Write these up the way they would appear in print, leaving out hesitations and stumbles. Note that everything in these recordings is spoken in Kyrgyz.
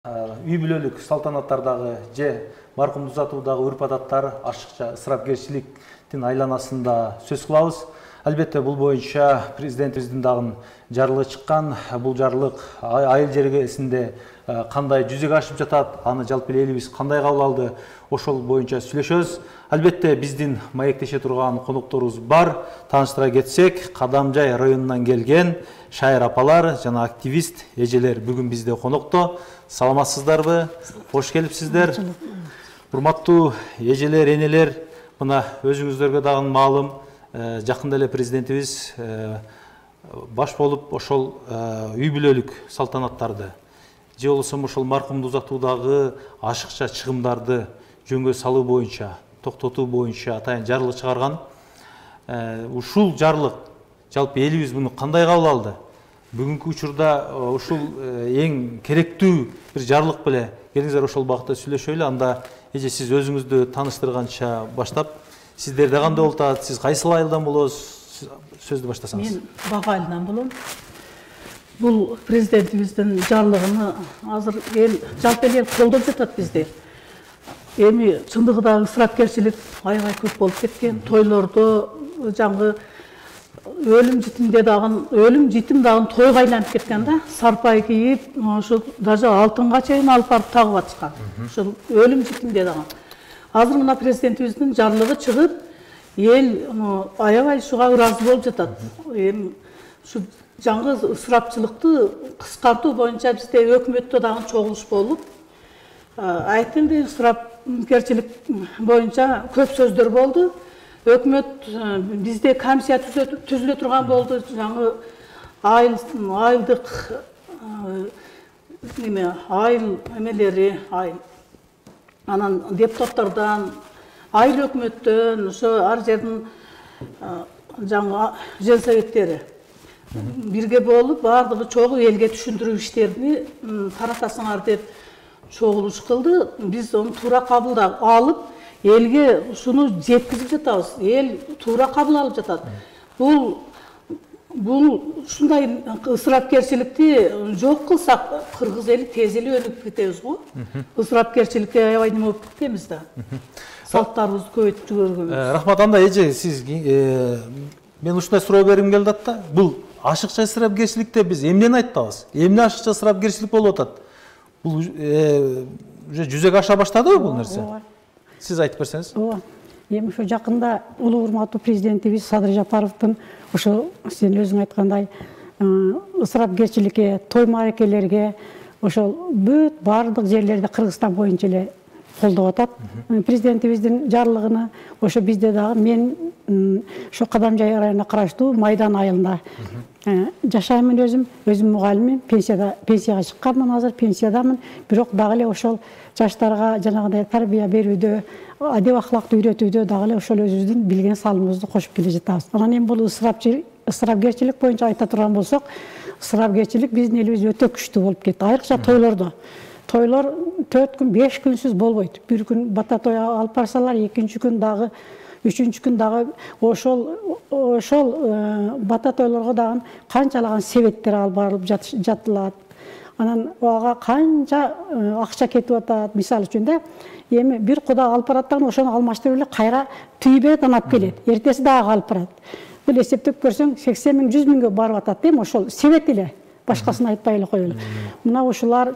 үй бүлөлүк салтанаттардагы же маркумду узатуудагы урп-адаттар ашыкча ысырапкерчиликтин айланасында сөз кылабыз. Албетте бул боюнча президентибиздин дагы жарлыгы чыккан. Бул жарлык айыл жергесинде кандай жүзөгө ашып жатат, аны жалпы элибиз кандай кабыл алды, ошол боюнча сүйлөшөбүз. Албетте биздин маектеше турган конокторубуз бар. Тааныштыра кетсек, Кадамжай районунан келген шайыр апалар жана активист эжелер бүгүн бизде конокто. Саламатсыздарбы? Кош келипсиздер. Урматтуу эжелер, энелер, мына өзүңүздөргө дагы маалым, жакында эле президентибиз баш болуп ошол үй бүлөлүк салтанаттарды же болбосо ошол маркумду узатуудагы ашыкча чыгымдарды жөнгө салуу боюнча, токтотуу боюнча атайын жарлык чыгарган. Ушул жарлык жалпы элибиз муну кандай кабыл алды? Бүгүнкү учурда ушул эң керектүү бир жарлык беле. Келиңиздер ошол багытта сүйлөшөлү. Анда эже сиз өзүңүздү тааныштырганча баштап, сиздерде кандай болуп атат? Сиз кайсыл айылдан болосуз? Сөздү баштасаңыз. Мен Бага айылынан болом. Бул президентибиздин жарлыгын азыр жалпы эл колдоп жатат бизде. Эми чындыгында ысырапкерчилик аябай көп болуп кеткен. Тойлордо жаңгы өлүм житим дагы тойго айланып кеткен да. Сарпай кийип, ошо даже алтынга чейин алып барып тагып атышкан. Ошол өлүм житимде дагы. Азыр мына президентибиздин жарлыгы чыгып, эл аябай ушуга ыраазы болуп жатат. Эми ушу жаңгы ысырапчылыкты кыскартуу боюнча бизде өкмөттө дагы чогулуш болуп, айткендей ысырапкерчилик боюнча көп сөздөр болду. Өкмөт бизде комиссия түзүлө турган болду. Жаңы айылдык айыл эмелери, анан депутаттардан, айыл өкмөттөн, ошо ар жердин жаңы жер советтери бирге болуп, бардыгы чогуу элге түшүндүрүү иштерини таратасыңар деп чогулуш кылды. Биз аны туура кабыл алып, элге ушуну жеткизип жатабыз. Эл туура кабыл алып жатат. Бул ушундай ысырапкерчиликти жок кылсак, кыргыз эли тез эле өнүгүп кетебиз го. Ысырапкерчиликке аябай неме болуп кеткенбиз да. Салттарыбызды көбөйтүп жибергөнбүз. Рахмат. Анда эже, сиз мен ушундай суроо бергим келди да. Бул ашыкча ысырапкерчиликте биз эмнени айтабыз? Эмне ашыкча ысырапкерчилик болуп атат? Бул уже жүзөгө аша баштадыбы бул нерсе? Сиз айтып берсеңиз. Ооба. Эми ушу жакында улуу урматтуу президентибиз Садыр Жапаровдун ошо сен өзүң айткандай ысырапкерчиликке, той мааракелерге ошол бүт бардык жерлерде Кыргызстан боюнча эле колдоп атат. Президентибиздин жарлыгыны ошо бизде дагы мен ошо Кадамжай районуна караштуу Майдан айылында жашаймын өзүм мугалиммин, пенсияга чыкканмын, азыр пенсиядамын. Бирок дагы эле ошол жаштарга жанагындай тарбия берүүдө, адеп ахлакты үйрөтүүдө дагы эле ошол өзүбүздүн билген салымыбызды кошуп келе жатабыз. Анан эми бул ысырапкерчилик боюнча айта турган болсок, ысырапкерчилик биздин элибизде өтө күчтүү болуп кетти. Айрыкча тойлордо. Тойлор 4 күн, 5 күнсүз болбойт. Бир күн бата той алып барсалар, экинчи күн дагы, үчүнчү күн дагы ошол бата тойлорго дагы канчалаган себеттер алып барылып жатылат. Анан ага канча акча кетип атат. Мисалы үчүн да, эми бир куда алып барат дагы ошону алмаштырып эле кайра түйүп берет, анан алып келет. Эртеси дагы алып барат. Бул эсептеп көрсөң 80 миң, 100 миңге барып атат, эми ошол себет эле. Башкасын айтпай эле коелу. Мына ушуларды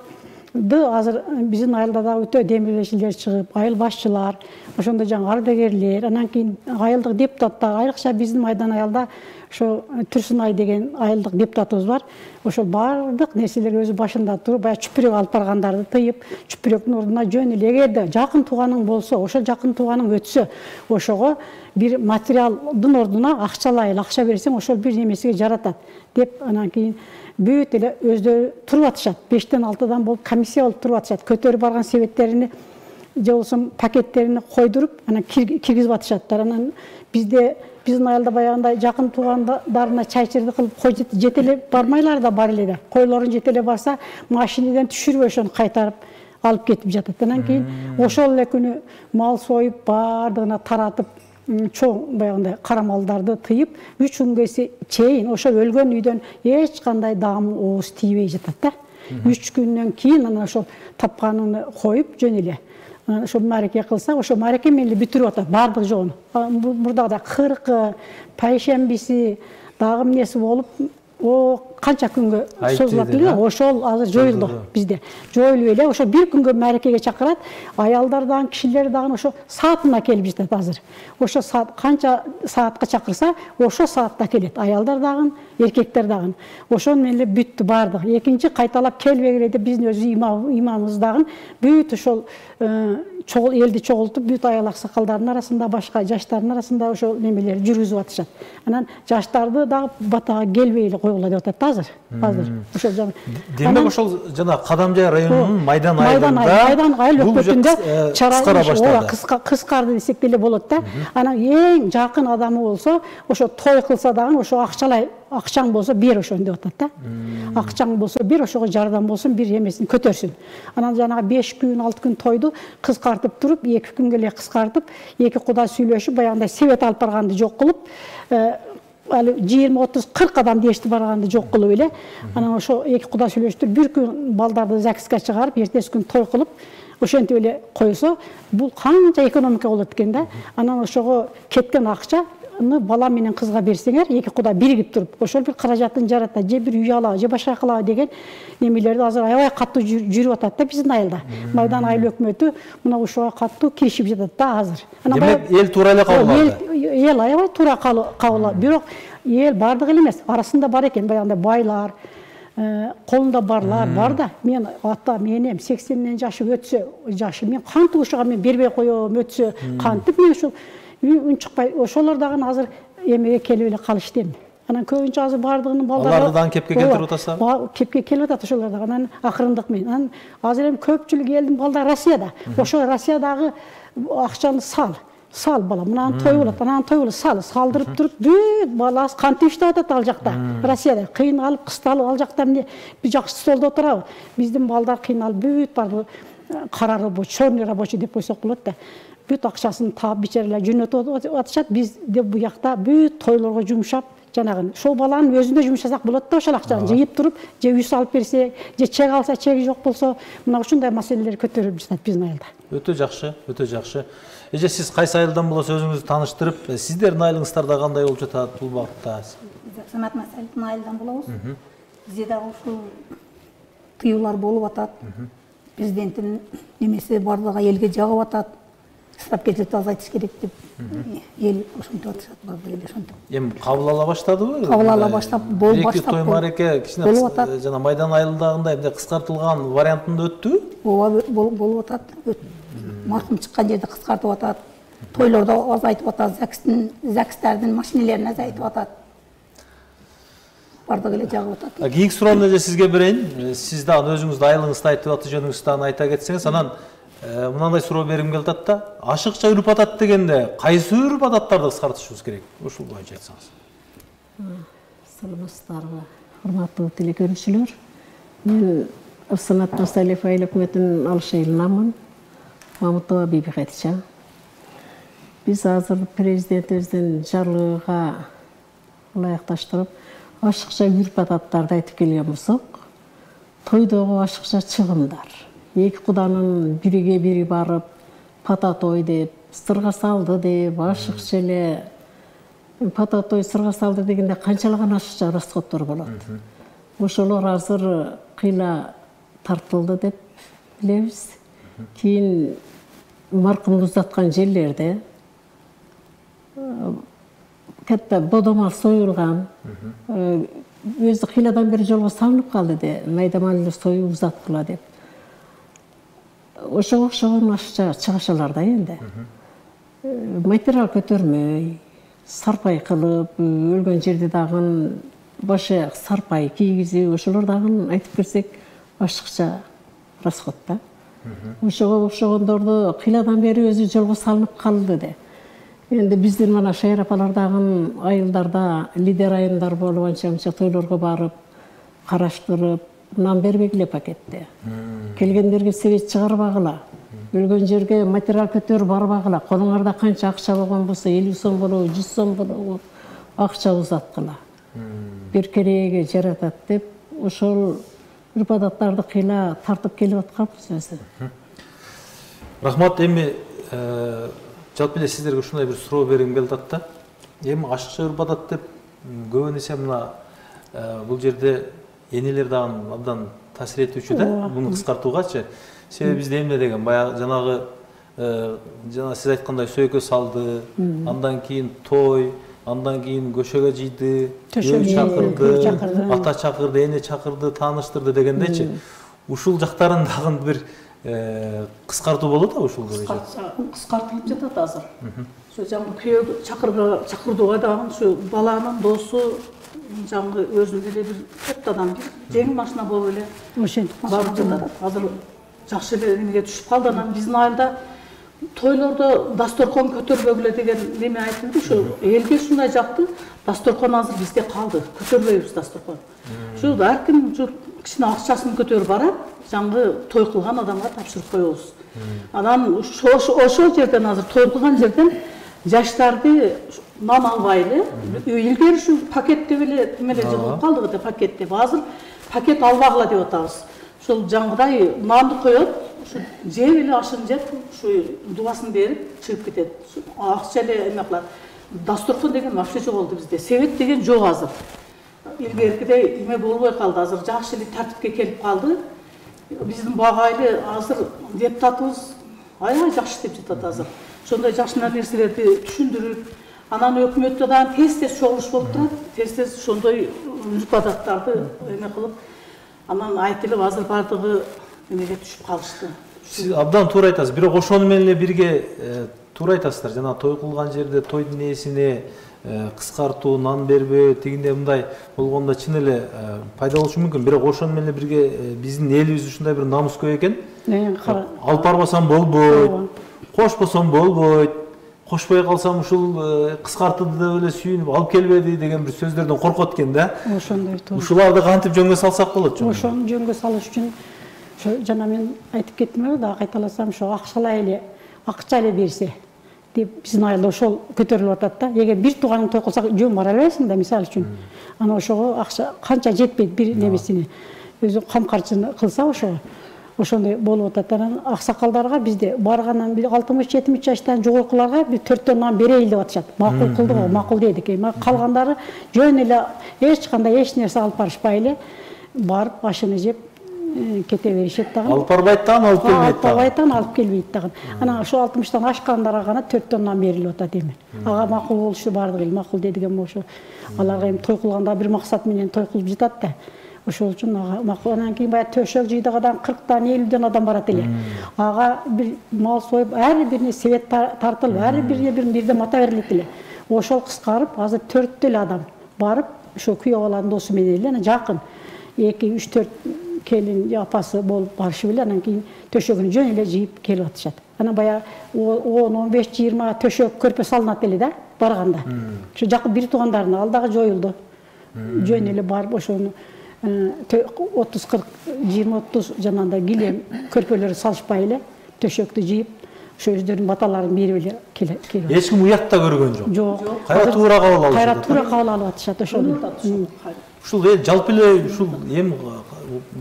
азыр биздин айылда да өтө демилешилер чыгып, айыл башчылар, ошондой жаңы ардагерлер, анан кийин айылдык депутаттар, айрыкча биздин Майдан айылда ошо Түрсүнай деген айылдык депутатыбыз бар. Ошол бардык нерселерге өзү башында туруп, баягы чүпүрөк алып баргандарды тыйып, чүпүрөктүн ордуна жөн эле эгерде жакын тууганың болсо, ошол жакын тууганың өтсө, ошого бир материалдын ордуна акчалай акча берсең, ошол бир немесиге жаратат деп, анан кийин бүт эле өздөрү туруп атышат. 5-тен 6-дан болуп комиссия болуп туруп атышат. Көтөрүп барган себеттерини же болбосо пакеттерини койдуруп, анан киргизип атышаттар. Анан биздин айылда баягындай жакын туугандарына чайчырды кылып, кой жетеле бармайлар да бар эле да. Койлорун жетеле барса, машинеден түшүрүп ошону кайтарып алып кетип жатат. Анан кийин ошол эле күнү мал союп, бардыгына таратып, чоң баягындай карамалдарды тыйып, 3 күнгө чейин ошо өлгөн үйдөн эч кандай даам ооз тийбей жатат да. 3 күндөн кийин анан ошол тапканын коюп жөн эле ошо маареке кылса, ошо маареке менен бүтүрүп атат баардык жолун. Мурдагы кыркы, пайшембиси дагы эмнеси болуп, канча күнгө созулат эле, ошол азыр жоюлду бизде. Жоюлуп эле, ошо бир күнгө маарекеге чакырат, аялдар дагы, кишилер дагы ошо саатына келип жатат азыр. Ошо саат канча саатка чакырса, ошо саатта келет. Аялдар дагы, эркектер дагы. Ошол менен эле бүттү баардык. Экинчи кайталап келбегиле деп биздин өз имамыбыз дагы бүт ошол элди чогултуп, бүт аял аксакалдардын арасында, башка жаштардын арасында ошол немелер жүргүзүп атышат. Анан жаштарды дагы батага келбей эле койгула деп атат азыр. Ошол жана. Демек ошол жана Кадамжай районунун Майдан айыл өкмөтүндө кыскара баштады. Кыскарды десек деле болот да. Анан эң жакын адамы болсо, ошо той кылса дагы ошо акчаң болсо бер ошону деп атат да. Акчаң болсо бер, ошого жардам болсун, бир эмесин көтөрсүн. Анан жанагы 5 күн, 6 күн тойду кыскартып туруп, 2 күнгө эле кыскартып, 2 куда сүйлөшүп, баягындай себет алып барганды жок кылып, али 20, 30, 40 адам дешти барганды жок кылып эле, анан ошо 2 куда сүйлөштүрүп, бир күн балдарды ЗАГСке чыгарып, эртеси күн той кылып, ошентип эле койсо, бул канча экономика болот экен да. Анан ошого кеткен акча бала менен кызга берсеңер, 2 куда биригип туруп, ошол бир каражатын жарата, же бир үй алабы, же башка кылабы деген немелерди азыр аябай катуу жүрүп атат да биздин айылда. Майдан айыл өкмөтү мына ушуга катуу киришип жатат да азыр. Демек эл туура эле кабыл алды. Эл аябай туура кабыл алды. Бирок эл бардыгы эле эмес, арасында бар экен баягындай байлар, колунда барлар бар да. Мен атам, энем 80ден жашы мен кантип ушуга мен бербей коём, өтсө кантип мен ушул үнчүкпай, ошолор дагы азыр эмеге келип эле калышты эми. Анан көбүнчө азыр бардыгынын балдары аларды дагы кепке келтирип атасызбы? Кепке келип атат ошолор дагы. Анан акырындык менен. Анан азыр эми көпчүлүк элдин балдары Россияда. Ошо Россиядагы акчаны сал бала, мынаны той болот, анан той болот, салдырып туруп, бүт баласы кантип иштеп атат ал жакта. Россияда кыйналып, кысталып, ал жакта эмне бир жакшы столдо отурабы? Биздин балдар кыйналып, бүт бар кара рабочий, черный рабочий деп койсок болот да. Бүт акчасын таап бичаралар жөнөтүп атышат. Биз деп буякта бүт тойлорго жумшап, жанагы ошол баланын өзүнө жумшасак болот да, ошол акчаны жыйып туруп, же үй салып берсе, же чек алса, чеги жок болсо, мына ушундай маселелер көтөрүлүп жатат биздин айылда. Өтө жакшы, өтө жакшы. Эже сиз кайсы айылдан болосо өзүңүздү тааныштырып, сиздердин айылыңыздарда кандай болуп жатат бул багытта? Самат Масаловдун айылдан болобуз. Бизде дагы ушул тыюулар болуп атат. Президенттин немеси бардыгы элге жагып атат. Ысырап кетти, азайтыш керек деп эл ошентип атышат, бардыгы эле ошентип. Эми кабыл ала баштадыбы? Кабыл ала баштап, болуп баштап. Той маареке кичине жана Майдан айылдагындай эмне кыскартылган вариантында өттүбү? Ооба, болуп атат. Маркум чыккан жерде кыскартып атат. Тойлордо азайтып атат, ЗАГСтердин машинелерин азайтып атат. Бардыгы эле жагып атат. Кийинки суроону эже сизге берейин. Сиз дагы өзүңүздүн айылыңызды айтып, аты жөнүңүздү дагы айта кетсеңиз, анан мындай суроо берим келип атат да. Ашыкча үрп атат дегенде кайсы үрп адаттарды кыскартышыбыз керек? Ушул боюнча айтсаңыз. Саламатсыздарбы, урматтуу телекөрүүчүлөр. Мен Самат Масалов айыл өкмөтүнүн Алыш айылынанмын. Мамытова Биби Хадича. Биз азыр президентибиздин жарлыгына ылайыкташтырып, ашыкча үрп адаттарды айтып келген болсок, тойдогу ашыкча чыгымдар. Эки куданын бириге бири барып, пата той деп, сырга салды деп, ашыкча эле пата той, сырга салды дегенде канчалаган ашыкча расходдор болот. Ошолор азыр кыйла тартылды деп билебиз. Кийин маркумду узаткан жерлерде катта бодомал союлган, өзү кыйладан бери жолго салынып калды де, майдамалды союп узаттыла деп. Ошого окшогон ашыкча чыгышалар да энди. Материал көтөрмөй, сарпай кылып, өлгөн жерде дагы башы сарпай кийгизип, ошолор дагы айтып берсек ашыкча расход да. Ошого окшогондорду кыйладан бери өзү жолго салынып калды де. Энди биздин мана шайыр апалардагы айылдарда лидер айымдар болуп анча-мынча тойлорго барып, караштырып, нан бербегиле пакетте. Келгендерге себет чыгарбагыла. Өлгөн жерге материал көтөрүп барбагыла. Колуңарда канча акча болгон болсо, 50 сом болобу, 100 сом болобу, акча узаткыла. Бир кереге жаратат деп, ошол үрп адаттарды кыйла тартып келип атканбыз өзү. Рахмат. Эми жалпы эле сиздерге ушундай бир суроо бергим келип атат да. Эми ашыкча үрп адат деп көбүн эсе мына бул жерде энелер дагы абдан таасир этүүчү да, муну кыскартуугачы. Себеби бизде эмне деген баягы жанагы жана сиз айткандай сөйкө салды, андан кийин той, андан кийин көшөгө жыйды, үй чакырды, ата чакырды, эне чакырды, тааныштырды дегендейчи. Ушул жактарын дагы бир кыскартуу болот да ушул боюнча. Кыскартылып жатат азыр. Ошо жаңы күйөө чакырдууга дагы ушу баланын досу жаңы өзүнүн эле бир төрт адам жеңил машина болуп эле ошентип барып жатат. Азыр жакшы эле эмеге түшүп калды. Анан биздин айылда тойлордо дасторкон көтөрбөгүлө деген неме айтылды. Ошо элге ушундай жакты. Дасторкон азыр бизде калды. Көтөрбөйбүз дасторкон. Ошо ар ким кичине акчасын көтөрүп барат, жаңы той кылган адамга тапшырып коебуз. Анан ошол жерден азыр той кылган жерден жаштарды нан албай эле, илгери ушу пакет деп эле эмеле жылып калдык да пакет деп. Азыр пакет албагыла деп атабыз. Ошол жаңгыдай нанды коет, ушу жеп эле ашын жеп, ушу дубасын берип чыгып кетет. Акча эле эме кылат. Дасторкон деген вообще жок болду бизде. Себет деген жок азыр. Илгеркидей эме болбой калды. Азыр жакшы эле тартипке келип калды. Биздин багайлы азыр депутатыбыз аябай жакшы деп жатат азыр. Ошондой жакшы нерселерди түшүндүрүп, анан өкмөттө дагы тез чогулуш болуп турат. Тез ошондой үрп адаттарды эме кылып, анан айтылып азыр бардыгы эмеге түшүп калышты. Сиз абдан туура айтасыз. Бирок ошону менен эле бирге туура айтасыздар. Жана той кылган жерде тойдун ээсине кыскартуу, нан бербөө, тигинде мындай болгондо чын эле пайда болушу мүмкүн. Бирок ошону менен эле бирге биздин элибиз ушундай бир намыскөй экен. Алып барбасам болбойт, кошпосом болбойт, кошпой калсам ушул кыскартылды деп эле сүйүнүп алып келбеди деген бир сөздөрдөн коркот экен да. Ошондой туура. Ушуларды кантип жөнгө салсак болот жөн? Ошону жөнгө салыш үчүн ошо жана мен айтып кеттим да, кайталасам, ошо акча эле берсе деп биздин айылда ошол көтөрүлүп атат да. Эгер бир тууганың той кылса жөн бара албайсың да, мисалы үчүн. Анан ошого акча канча жетпейт бир немесине. Өзү кам карчыны кылса ошондой болуп атат. Анан аксакалдарга бизде баргандан 60-70 жаштан жогоркуларга бир 4 нан берейин деп атышат. Макул кылдык, макул дедик. Калгандары жөн эле эч кандай эч нерсе алып барышпай эле барып ашыны жеп кете беришет дагы. Алып барбайт дагы, алып келбейт дагы. Алып барбайт дагы, алып келбейт дагы. Анан ошо 60-тан ашкандарга гана 4 нан берилип атат эми. Ага макул болушу бардыгы эле макул дедиген болушу. Аларга эми той кылганда бир максат менен той кылып жатат да. Ошол үчүн ага макул. Анан кийин баягы төшөк жыйдыгадан 40-тан 50-ден адам барат эле. Ага бир мал союп, ар бирине себет тартылып, ар бирине бирден мата берилет эле. Ошол кыскарып, азыр 4 эле адам барып, ошо күйөө баланын досу менен эле, анан жакын 2-3-4 келин апасы болуп барышып эле, анан кийин төшөгүн жөн эле жыйып келип атышат. Анан баягы 10-15-20 төшөк көрпө салынат эле да барганда. Ошо жакын бир туугандарына ал дагы жоюлду. Жөн эле барып ошону 30-40, 20-30 жанагындай килем көрпөлөрү салышпай эле төшөктү жыйып, ошо өздөрүнүн баталарын берип эле келип. Эч ким уятта көргөн жок. Жок. Кайра туура кабыл алышат. Кайра туура кабыл алып атышат ошону. Ушул жалпы эле ушул эми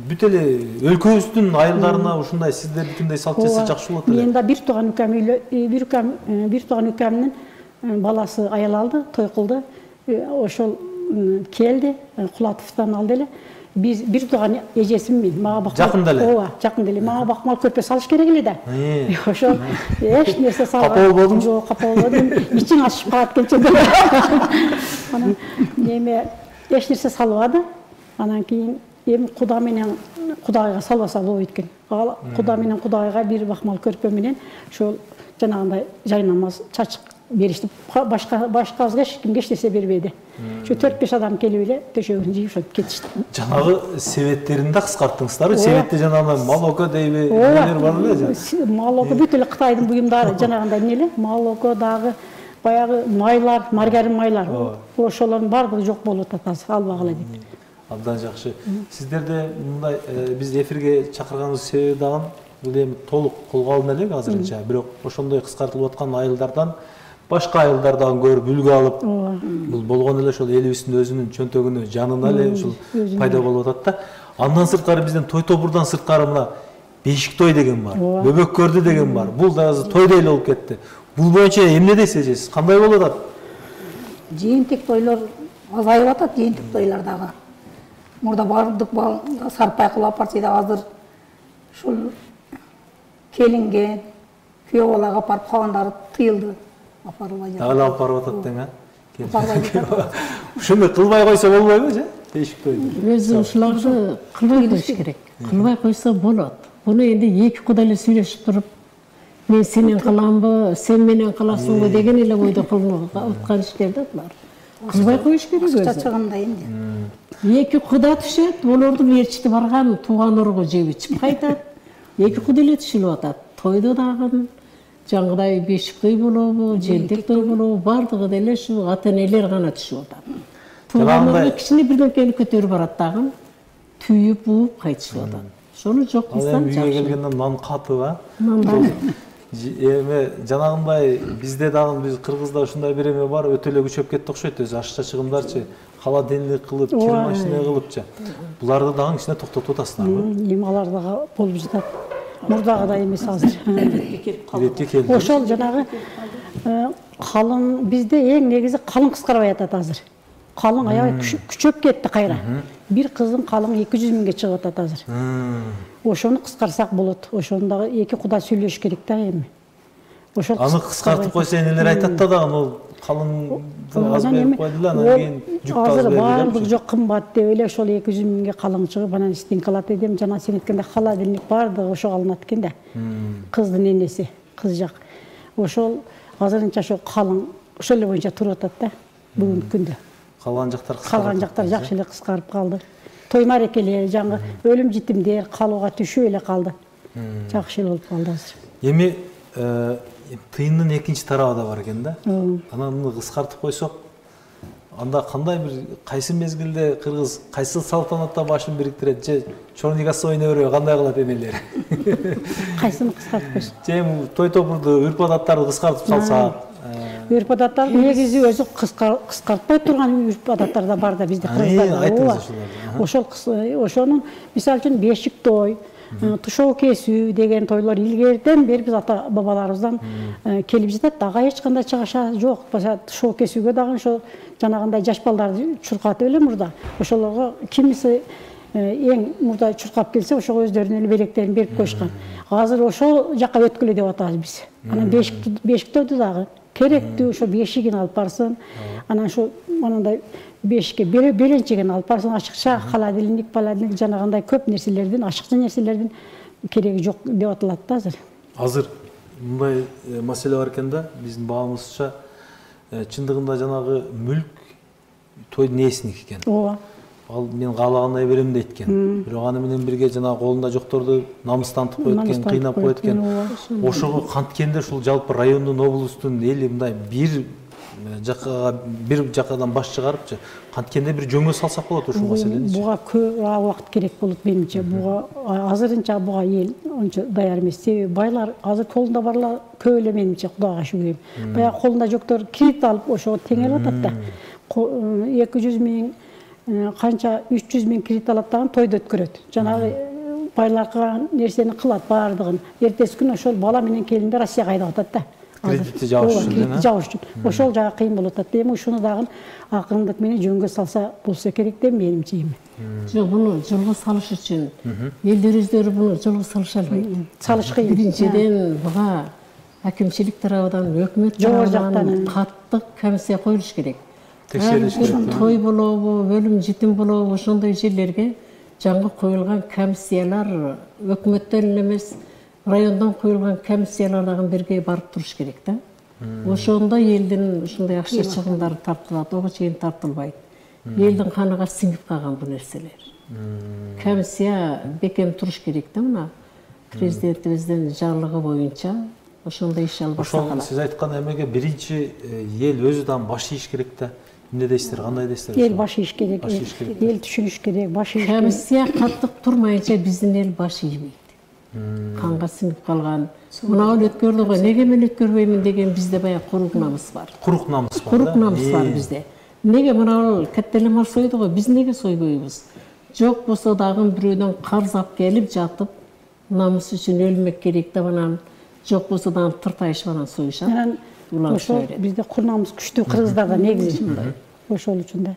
бүт эле өлкөбүздүн айылдарына ушундай сиздердикиндей салт жасаса жакшы болот эле. Мен да бир тууган үкөмдүн баласы аял алды, той кылды. Ошол келди, Кулатовдон алды эле. Биз бир тууган эжесимин, мага бакмал. Жакында эле. Ооба, жакында эле. Мага бакмал көрпө салыш керек эле да. Ошол эч нерсе салбай. Капа болбодуңбу? Жок, капа болбодум. Ичиң ачышып калат келчеде. Анан неме эч нерсе салбады. Анан кийин эми Куда менен Кудайга салбаса болбойт экен. Ал Куда менен Кудайга бир бакмал көрпө менен ошол жанагындай жайнамаз, чачык беришти. Башкабызга эч кимге эч нерсе бербеди. Ошо 4-5 адам келип эле төшөгүн жыйып ошентип кетишти. Жанагы себеттерин да кыскарттыңыздарбы? Себетте жанагы молоко дейби, эмелер бар эле. Молоко бүт эле Кытайдын буюмдары жанагындай эмне эле, молоко дагы баягы майлар, маргарин майлар. Ошолордун баардыгы жок болуп атат азыр, албагыла дейт. Абдан жакшы. Сиздерде мындай биз эфирге чакырганыбыз себеби дагы бул эми толук колго алына элек азырынча. Бирок ошондой кыскартылып аткан айылдардан башка айылдардан көрүп үлгү алып, бул болгон эле ошол элибиздин өзүнүн чөнтөгүнө, жанына эле ушул пайда болуп атат да. Андан сырткары бизден той тобурдан сырткары мына бешик той деген бар, бөбөк көрдү деген бар. Бул да азыр тойдой эле болуп кетти. Бул боюнча эмне дейсиз эже? Кандай болуп атат? Жыйынтык тойлор азайып атат, жыйынтык тойлор дагы. Мурда бардык сарпай кылып апарчы да азыр ушул келинге, күйөө балага апарып калгандары тыйылды. Апарылбай жатат. Дагы алып барып атат дең, Апарбай жатат. Ушуну кылбай койсо болбойбу же? Бешик тойду. Өзү ушуларды кылбай коюш керек. Кылбай койсо болот. Буну энди эки кудай эле сүйлөшүп туруп, мен сенен кыламбы, сен менен кыласыңбы деген эле бойдо кылынып аткан иштер да булар. Кылбай коюш керек өзү. Чачыгында энди. Эки куда түшөт, олордун ээрчити барган тууган ургу жеп ичип кайтат. Эки куда эле түшүлүп атат. Тойдо дагы жаңгыдай бешик той болобу, жыйынтык той болобу, бардыгы деле ушу ата-энелер гана түшүп атат. Туугандар кичине бирдекени көтөрүп барат дагы, түйүп, бууп кайтышып атат. Шону жок кылсаң жакшы. Үйгө келгенде нан катып, эме жанагындай бизде дагы биз Кыргызда ушундай бир эме бар, өтө эле күчөп кетти окшойт. Өзү ашча чыгымдарчы, холодильник кылып, кир машина кылыпчы. Буларды дагы кичине токтотуп атасыңарбы? Эми алар дагы болуп жатат. Мурдагыдай эмес азыр. Иретке келди. Ошол жанагы калың бизде эң негизи калың кыскарбай атат азыр. Калың аябай күчөп кетти кайра. Бир кыздын калыңы 200 миңге чыгып атат азыр. Ошону кыскарсак болот. Ошону дагы эки куда сүйлөш керек да эми. Ошол аны кыскартып койсо энелер айтат да дагы, ал калың аз берип койду да, анан кийин жүк аз берди. Азыр баардык жок кымбат деп эле ошол 200 миңге калың чыгып, анан стенка алат эдем. Жана сен айткандай холодильник бардыгы ошого алынат экен да. Кыздын энеси, кыз жак. Ошол азырынча ошол калың ошол эле боюнча туруп атат да бүгүнкү күндө. Калган жактар жакшы эле кыскарып калды. Той марекелер, жаңы өлүм житимдер калууга түшүп эле калды. Жакшы эле болуп калды азыр. Эми тыйындын экинчи тарабы да бар экен да. Анан муну кыскартып койсок, анда кандай бир кайсы мезгилде кыргыз кайсы салтанатта башын бириктирет же чорнигасы ойной бербей кандай кылат энелер? Кайсыны кыскартып койсок? Же той тобурду, үрп адаттарды кыскартып салсак? Үрп адаттар негизи өзү кыскартпай турган үрп адаттар да бар да бизде Кыргыздарда. Ошол ошонун мисалы үчүн бешик той, тушоо кесүү деген тойлор илгериден бери биз ата бабаларыбыздан келип жатат. Ага эч кандай чыгаша жок. Тушоо кесүүгө дагы ошо жанагындай жаш балдарды чуркатып эле мурда. Ошолорго кимиси эң мурда чуркап келсе, ошого өздөрүнүн эле белектерин берип коюшкан. Азыр ошол жака өткүлө деп атабыз биз. Анан бешиктерди дагы керектүү ошо бешигин алып барсын. Анан ошо анандай бешикке беленчеген алып барсын, ашыкча холодильник, жанагындай көп нерселердин, ашыкча нерселердин кереги жок деп атылат да азыр. Азыр мындай маселе бар экен да, биздин баамызча чындыгында жанагы мүлк тойдун ээсиники экен. Ооба. Ал мен каалагандай берем дейт экен. Бирок аны менен бирге жанагы колунда жокторду намыстантып коет экен, кыйнап коет экен. Ошого канткенде ушул жалпы райондун, облустун эли мындай бир жакадан баш чыгарыпчы, канткенде бир жөнгө салсак болот ушул маселени. Буга көп убакыт керек болот менимче. Буга азырынча буга эл ончо даяр эмес. Себеби байлар азыр колунда барлар көп эле менимче, Кудайга шүгүр. Баягы колунда жоктор кредит алып ошого теңелип атат да. 200 миң канча 300 миң кредит алат дагы тойду өткөрөт. Жанагы байлар кылган нерсени кылат баардыгын. Эртеси күнү ошол бала менен келинди Россияга айдап атат да. Кредитти жабыш үчүн. Ошол жагы кыйын болуп атат. Эми ушуну дагы акырындык менен жөнгө салса болсо керек деп менимче эми. Жок, буну жолго салыш үчүн элдер өздөрү буну жолго салыша албайт. Салыш кыйын. Биринчиден буга акимчилик тарабынан, өкмөт тарабынан каттык комиссия коюлуш керек. Текшериш керек. Той болобу, өлүм житим болобу, ошондой жерлерге жаңы коюлган комиссиялар өкмөттөн эле эмес, райондон коюлган комиссиялар дагы бирге барып туруш керек да. Ошондо элдин ушундай акча чыгымдары тартылат, ого чейин тартылбайт. Элдин каныга сиңип калган бул нерселер. Комиссия бекем туруш керек да мына. Президентибиздин жарлыгы боюнча ошондой иш алып барсак болот. Ошол сиз айткан эмеге биринчи эл өзү дагы баш ийиш керек да. Эмне дейсиздер, кандай дейсиздер? Эл баш ийиш керек, эл түшүнүш керек, баш ийиш керек. Комиссия каттык турмайынча биздин эл баш ийбейт. Канга сиңип калган. Мына ал өткөрдү го, неге мен өткөрбөймүн деген бизде баягы курук намыс бар. Курук намыс бар. Курук намыс бар бизде. Неге мына ал каттеле мал сойду го, биз неге сойбойбуз? жок болсо дагы бирөөдөн карыз алып келип жатып, намыс үчүн өлмөк керек деп анан жок болсо дагы тыртайышып анан союшат. Ошол бизде кур намыс күчтүү кыргыздарда негизи ошол үчүн да.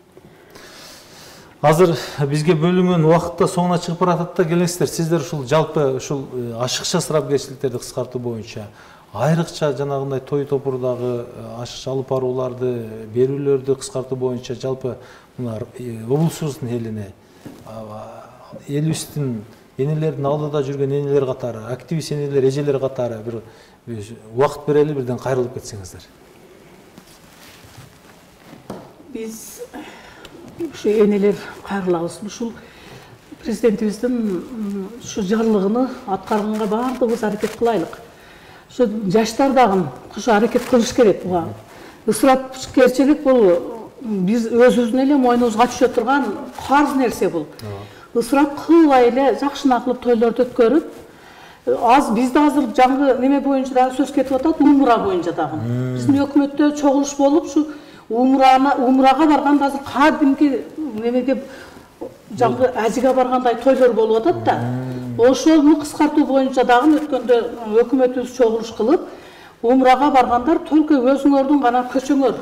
Азыр бизге бөлүнгөн убакытта соңуна чыгып баратат да, келиңиздер. Сиздер ушул жалпы ушул ашыкча ысырапкерчиликтерди кыскартуу боюнча айрыкча жанагындай той топурдагы ашыкча алып барууларды, берүүлөрдү кыскартуу боюнча жалпы мына облусубуздун элине, элибиздин энелердин алдыда жүргөн энелер катары, активист энелер, эжелер катары бир убакыт берели, бирден кайрылып кетсеңиздер. Биз ушу энелер кайрылабыз. Ушул президентибиздин ушу жарлыгын аткарганга баардыгыбыз аракет кылайлык. Ушу жаштар дагы ушу аракет кылыш керек. Буга ысырапкерчилик бул биз өзүбүздүн эле мойнубузга түшө турган карыз нерсе бул. Ысырап кылбай эле жакшына кылып тойлорду өткөрүп, бизде азыр жаңы неме боюнча дагы сөз кетип атат, умра боюнча дагы. Биздин өкмөттө чогулуш болуп, ушу умрага барганда азыр кадимки немеге жаңы ажыга баргандай тойлор болуп атат да. Ошону кыскартуу боюнча дагы өткөндө өкмөтүбүз чогулуш кылып, умрага баргандар только өзүңөрдүн гана көчөңөр,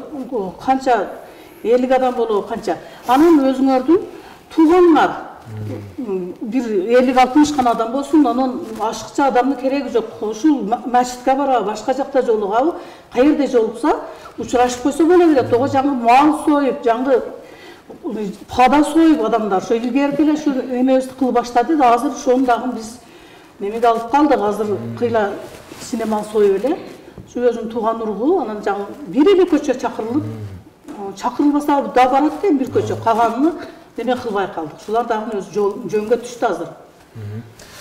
канча 50 адам болобу канча. Анан өзүңөрдүн тууганыңар бир 50-60 гана адам болсун, анан ашыкча адамдын кереги жок. Ушул мачитке барабы, башка жакта жолугабы, каерде жолукса, учурашып койсо боло берет. Ого жаңы мал союп, жаңы пада союп адамдар, ошо илгерки эле ушу эмебизди кылып баштады да, азыр ошону дагы биз немеге алып калдык. Азыр кыйла кичине мал союп эле, ушу өзүнүн тууган уругу, анан жаңы бир эле көчө чакырылып, чакырылбаса да барат экен бир көчө, калганын неме кылбай калдык. Ушулар дагы өзү жөнгө түштү азыр.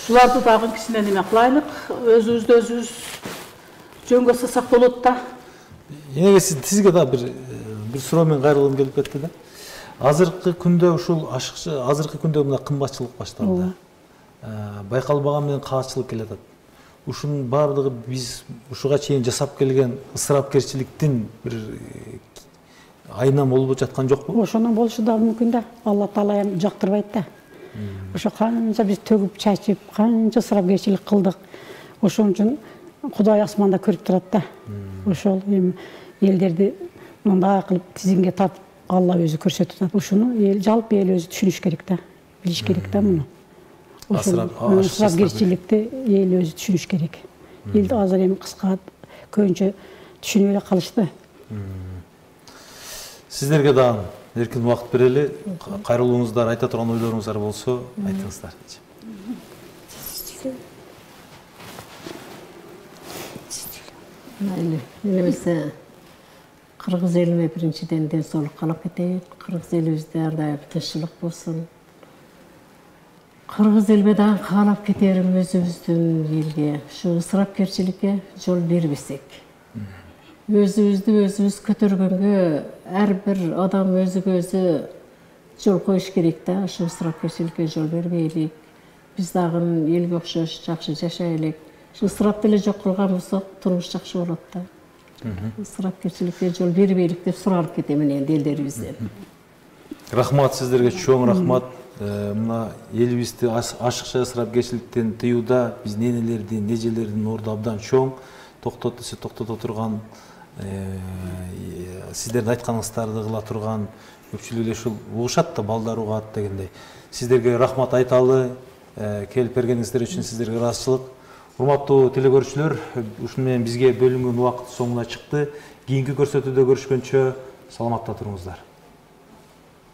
Ушуларды дагы кичине неме кылайлык, өзүбүздү өзүбүз жөнгө салсак болот да. Эне сизге да бир суроо менен кайрылгым келип кетти да. Азыркы күндө ушул ашыкчы, азыркы күндө мына кымбатчылык башталды. Байкалбаган менен каачылык келатат. Ушунун баардыгы биз ушуга чейин жасап келген ысырапкерчиликтин бир айынан болуп жаткан жокпу? Ошондон болушу да мүмкүн да. Алла Таала эми жактырбайт да. Ошо канча биз төгүп чачып, канча ысырапкерчилик кылдык. Ошон үчүн Кудай асманда көрүп турат да. Ошол эми элдерди мындай кылып тизинге тартып Алла өзү көрсөтүп атат. Ушуну жалпы эл өзү түшүнүш керек да. Билиш керек да муну. Ысырапкерчиликти эл өзү түшүнүш керек. Эл азыр эми кыска көбүнчө түшүнүп эле калышты. Сиздерге дагы эркин убакыт берели. Кайрылууңуздар, айта турган ойлоруңуздар болсо, айтыңыздар. Мейли, элибизде кыргыз элине биринчиден ден соолук каалап кетейик. Кыргыз элибизде ар дайым тынччылык болсун. Кыргыз элбе дагы каалап кетерим өзүбүздүн элге, ушу ысырапкерчиликке жол бербесек. Өзүбүздү өзүбүз көтөргөнгө ар бир адам өзүгө өзү жол коюш керек да. Ушу ысырапкерчиликке жол бербейлик. Биз дагы элге окшош жакшы жашайлык. Ушу ысырапты эле жок кылган болсок, турмуш жакшы болот да. Ысырапкерчиликке жол бербейлик деп суранып кетем энди элдерибизден. Рахмат сиздерге, чоң рахмат. Мына элибизди ашыкча ысырапкерчиликтен тыюуда биздин энелердин, эжелердин орду абдан чоң. Токтот десе токтото турган, сиздердин айтканыңыздарды кыла турган көпчүлүк эле ушул угушат да, балдар угат дегендей. Сиздерге рахмат айталы, келип бергениңиздер үчүн сиздерге ыраазычылык. Урматтуу телекөрүүчүлөр, ушуну менен бизге бөлүнгөн убакыт соңуна чыкты. Кийинки көрсөтүүдө көрүшкөнчө саламатта туруңуздар.